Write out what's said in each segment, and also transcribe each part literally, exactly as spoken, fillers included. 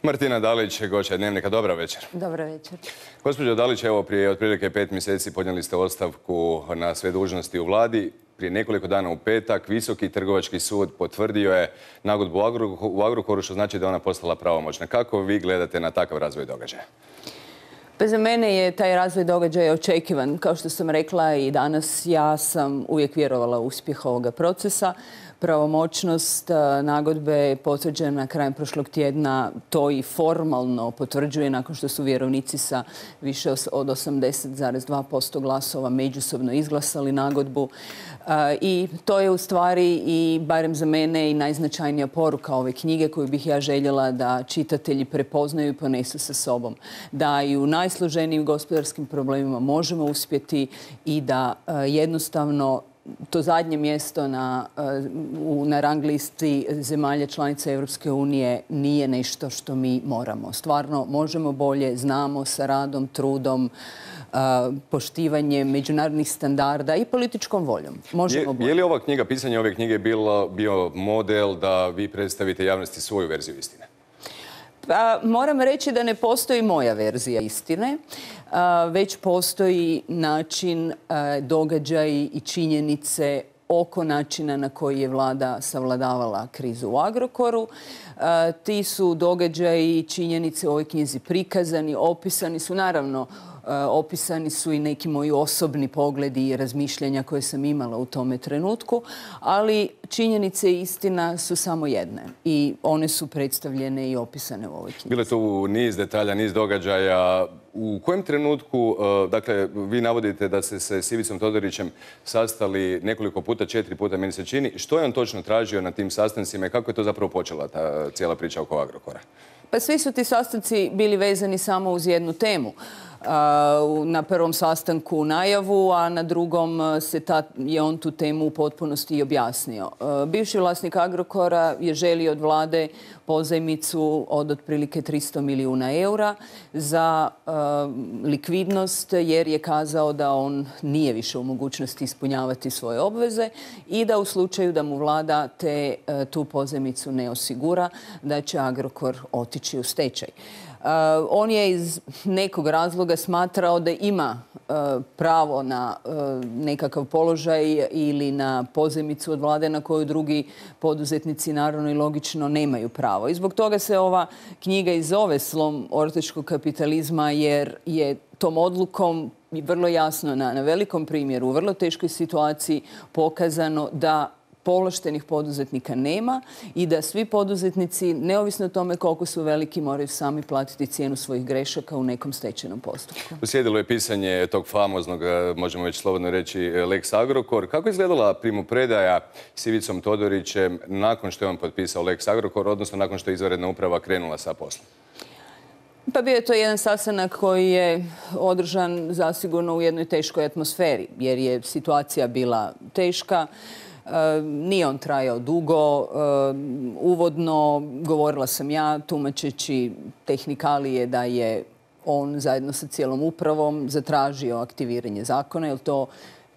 Martina Dalić, gošća Dnevnika. Dobra večer. Dobra večer. Gospođo Dalić, evo prije otprilike pet mjeseci podnijeli ste ostavku na sve dužnosti u vladi. Prije nekoliko dana u petak Visoki trgovački sud potvrdio je nagodbu u Agrokoru, što znači da je ona postala pravomoćna. Kako vi gledate na takav razvoj događaja? Pa za mene je taj razvoj događaja očekivan. Kao što sam rekla i danas, ja sam uvijek vjerovala u uspjeh ovoga procesa. Pravomoćnost nagodbe je potvrđena krajem prošlog tjedna, to i formalno potvrđuje nakon što su vjerovnici sa više od osamdeset zarez dva posto glasova međusobno izglasali nagodbu. I to je u stvari i, barem za mene, i najznačajnija poruka ove knjige koju bih ja željela da čitatelji prepoznaju i ponesu sa sobom. Da i u najsloženijim gospodarskim problemima možemo uspjeti i da jednostavno to zadnje mjesto na, na rang listi zemalja članica Europske unije nije nešto što mi moramo. Stvarno možemo bolje, znamo sa radom, trudom, poštivanjem međunarodnih standarda i političkom voljom. Možemo bolje. Je li ova knjiga, pisanje ove knjige bilo, bio model da vi predstavite javnosti svoju verziju istine? Pa, moram reći da ne postoji moja verzija istine, već postoji način, događaji i činjenice oko načina na koji je vlada savladavala krizu u Agrokoru. Ti su događaji i činjenice u ovoj knjizi prikazani, opisani su, naravno, opisani su i neki moji osobni pogledi i razmišljanja koje sam imala u tome trenutku, ali činjenice i istina su samo jedne i one su predstavljene i opisane u ovoj knjizi. Bilo je tu niz detalja, niz događaja. U kojem trenutku, dakle, vi navodite da ste se s Ivicom Todorićem sastali nekoliko puta, četiri puta, meni se čini. Što je on točno tražio na tim sastancima i kako je to zapravo počela ta cijela priča oko Agrokora? Pa svi su ti sastanci bili vezani samo uz jednu temu. Na prvom sastanku u najavu, a na drugom se ta, je on tu temu u potpunosti i objasnio. Bivši vlasnik Agrokora je želio od vlade pozajmicu od otprilike tristo milijuna eura za uh, likvidnost, jer je kazao da on nije više u mogućnosti ispunjavati svoje obveze i da u slučaju da mu vlada te, uh, tu pozajmicu ne osigura, da će Agrokor otići u stečaj. Uh, on je iz nekog razloga smatrao da ima uh, pravo na uh, nekakav položaj ili na pozajmicu od vlade na koju drugi poduzetnici naravno i logično nemaju pravo. I zbog toga se ova knjiga i zove Slom ortačkog kapitalizma, jer je tom odlukom vrlo jasno na, na velikom primjeru, u vrlo teškoj situaciji pokazano da povlaštenih poduzetnika nema i da svi poduzetnici, neovisno o tome koliko su veliki, moraju sami platiti cijenu svojih grešaka u nekom stečajnom postupku. Uslijedilo je pisanje tog famoznog, možemo već slobodno reći, Lex Agrokor. Kako je izgledala primopredaja s Ivicom Todorićem nakon što je on potpisao Lex Agrokor, odnosno nakon što je izvanredna uprava krenula sa poslom? Pa bio je to jedan sastanak koji je održan zasigurno u jednoj teškoj atmosferi, jer je situacija bila teška. Nije on trajao dugo. Uvodno govorila sam ja, tumačeći tehnikalije, da je on zajedno sa cijelom upravom zatražio aktiviranje zakona, jer to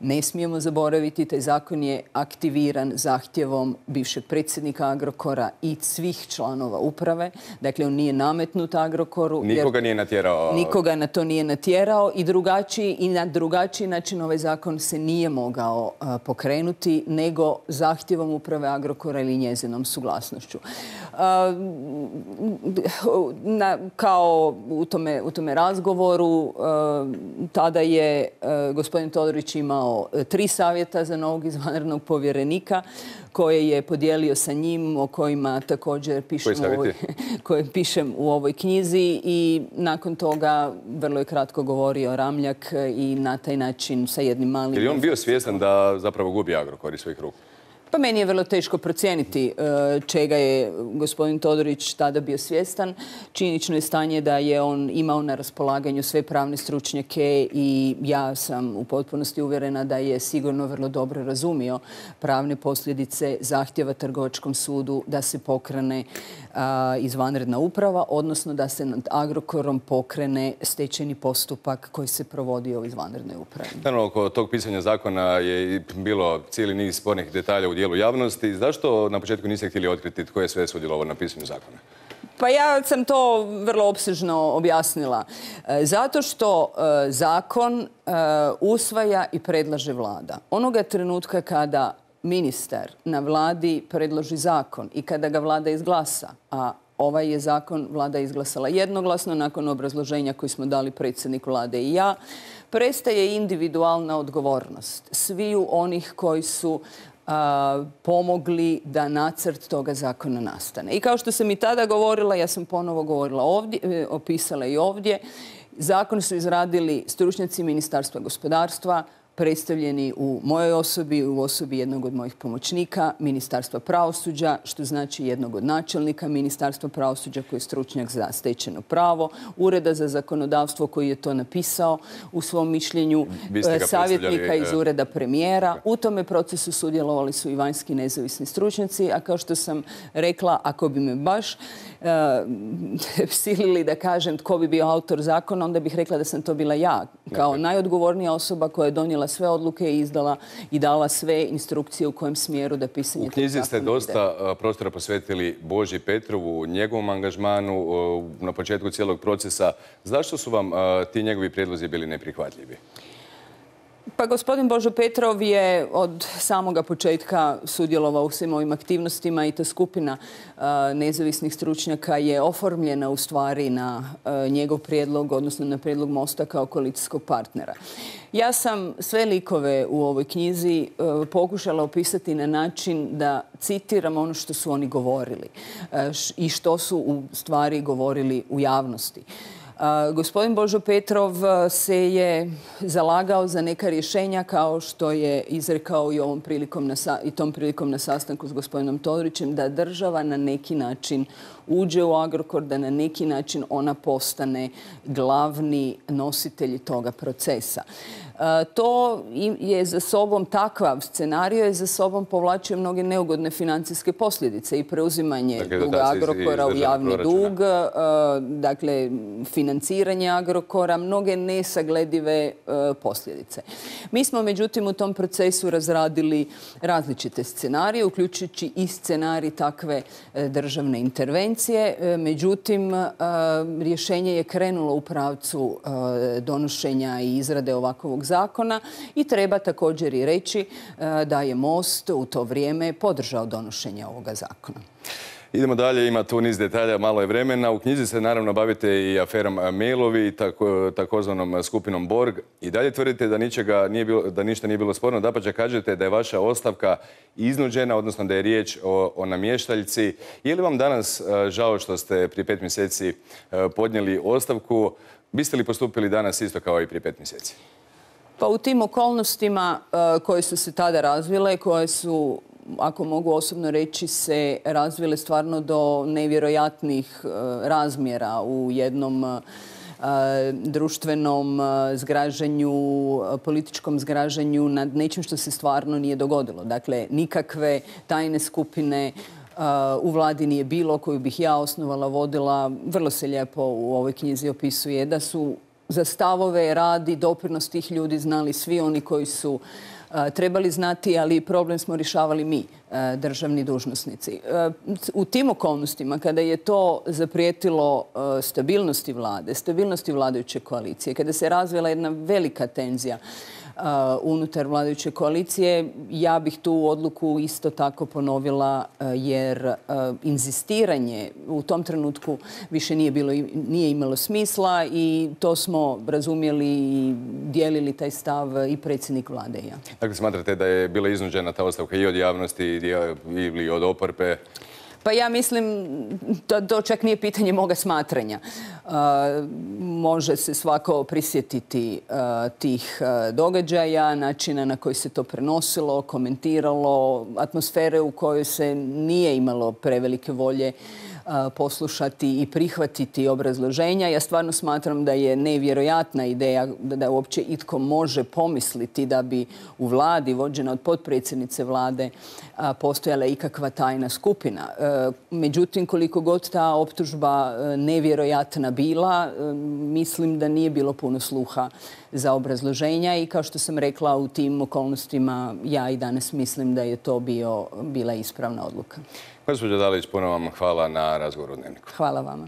ne smijemo zaboraviti. Taj zakon je aktiviran zahtjevom bivšeg predsjednika Agrokora i svih članova uprave. Dakle, on nije nametnut Agrokoru. Nikoga nije natjerao. Nikoga na to nije natjerao i drugačiji i na drugačiji način ovaj zakon se nije mogao uh, pokrenuti nego zahtjevom uprave Agrokora ili njezinom suglasnošću. Uh, na, kao u tome, u tome razgovoru uh, tada je uh, gospodin Todorić imao tri savjeta za novog izvanrednog povjerenika koje je podijelio sa njim, o kojima također pišem u ovoj, koje pišem u ovoj knjizi, i nakon toga vrlo je kratko govorio Ramljak i na taj način sa jednim malim... Je li on bio svjestan da zapravo gubi Agrokor iz svojih ruku? Pa meni je vrlo teško procijeniti čega je gospodin Todorić tada bio svjestan. Činjenično je stanje da je on imao na raspolaganju sve pravne stručnjake i ja sam u potpunosti uvjerena da je sigurno vrlo dobro razumio pravne posljedice zahtjeva Trgovačkom sudu da se pokrene izvanredna uprava, odnosno da se nad Agrokorom pokrene stečajni postupak koji se provodi u izvanrednoj upravi. Naravno, oko tog pisanja zakona je bilo cijeli niz spornih detalja u dijelu javnosti. Zašto na početku niste htjeli otkriti tko je sve sudjelovao na pisanju zakona? Pa ja sam to vrlo opsežno objasnila. Zato što zakon usvaja i predlaže vlada. Onoga trenutka kada ministar na vladi predloži zakon i kada ga vlada izglasa, a ovaj je zakon vlada izglasala jednoglasno nakon obrazloženja koji smo dali predsjednik vlade i ja, prestaje individualna odgovornost sviju onih koji su a, pomogli da nacrt toga zakona nastane. I kao što sam i tada govorila, ja sam ponovo govorila ovdje, opisala i ovdje, zakon su izradili stručnjaci Ministarstva gospodarstva, predstavljeni u mojoj osobi, u osobi jednog od mojih pomoćnika, Ministarstva pravosuđa, što znači jednog od načelnika Ministarstva pravosuđa koji je stručnjak za stečeno pravo, Ureda za zakonodavstvo koji je to napisao u svom mišljenju, savjetnika iz Ureda premijera. U tome procesu sudjelovali su i vanjski nezavisni stručnjaci, a kao što sam rekla, ako bi me baš uh, silili da kažem tko bi bio autor zakona, onda bih rekla da sam to bila ja, kao najodgovornija osoba koja je donijela sve odluke i izdala i dala sve instrukcije u kojem smjeru da pisanje tog zakona ide. U knjizi ste dosta prostora posvetili Boži Petrovu, njegovom angažmanu na početku cijelog procesa. Zašto su vam ti njegovi prijedlozi bili neprihvatljivi? Pa gospodin Božo Petrov je od samoga početka sudjelovao u svim ovim aktivnostima i ta skupina uh, nezavisnih stručnjaka je oformljena u stvari na uh, njegov prijedlog, odnosno na prijedlog Mosta kao koalicijskog partnera. Ja sam sve likove u ovoj knjizi uh, pokušala opisati na način da citiram ono što su oni govorili uh, i što su u stvari govorili u javnosti. Uh, gospodin Božo Petrov se je zalagao za neka rješenja kao što je izrekao i, ovom prilikom na, i tom prilikom na sastanku s gospodinom Todorićem, da država na neki način uđe u Agrokor, da na neki način ona postane glavni nositelj toga procesa. To je za sobom, takav scenario je za sobom povlačio mnoge neugodne financijske posljedice i preuzimanje dakle, duga Agrokora u javni dug, dakle financiranje Agrokora, mnoge nesagledive posljedice. Mi smo međutim u tom procesu razradili različite scenarije, uključujući i scenarij takve državne intervencije. Međutim, rješenje je krenulo u pravcu donošenja i izrade ovakvog zakona i treba također i reći da je Most u to vrijeme podržao donošenje ovoga zakona. Idemo dalje, ima tu niz detalja, malo je vremena. U knjizi se naravno bavite i aferom Mailovi i tako, takozvanom skupinom Borg. I dalje tvrdite da, ničega nije bilo, da ništa nije bilo sporno. Dapače, kažete da je vaša ostavka iznuđena, odnosno da je riječ o, o namještaljci. Je li vam danas žao što ste prije pet mjeseci podnijeli ostavku? Biste li postupili danas isto kao i prije pet mjeseci? Pa u tim okolnostima koje su se tada razvile, koje su, ako mogu osobno reći, se razvile stvarno do nevjerojatnih razmjera u jednom društvenom zgražanju, političkom zgražanju nad nečim što se stvarno nije dogodilo. Dakle, nikakve tajne skupine u vladi nije bilo koju bih ja osnovala, vodila. Vrlo se lijepo u ovoj knjizi opisuje da su za stavove, rad i doprinos tih ljudi znali svi oni koji su uh, trebali znati, ali problem smo rješavali mi, uh, državni dužnosnici. Uh, u tim okolnostima, kada je to zaprijetilo uh, stabilnosti vlade, stabilnosti vladajuće koalicije, kada se razvila jedna velika tenzija Uh, unutar vladajuće koalicije, ja bih tu odluku isto tako ponovila uh, jer uh, inzistiranje u tom trenutku više nije, bilo, nije imalo smisla i to smo razumjeli i dijelili taj stav i predsjednik vlade i ja. Dakle, smatrate da je bila iznuđena ta ostavka i od javnosti ili od oporbe? Pa ja mislim, to, to čak nije pitanje moga smatranja. Uh, može se svako prisjetiti uh, tih uh, događaja, načina na koji se to prenosilo, komentiralo, atmosfere u kojoj se nije imalo prevelike volje poslušati i prihvatiti obrazloženja. Ja stvarno smatram da je nevjerojatna ideja da uopće itko može pomisliti da bi u vladi, vođena od potpredsjednice vlade, postojala ikakva tajna skupina. Međutim, koliko god ta optužba nevjerojatna bila, mislim da nije bilo puno sluha za obrazloženja i kao što sam rekla, u tim okolnostima ja i danas mislim da je to bio, bila ispravna odluka. Gospođo Dalić, puno vam hvala na razgovoru u Dnevniku. Hvala vama.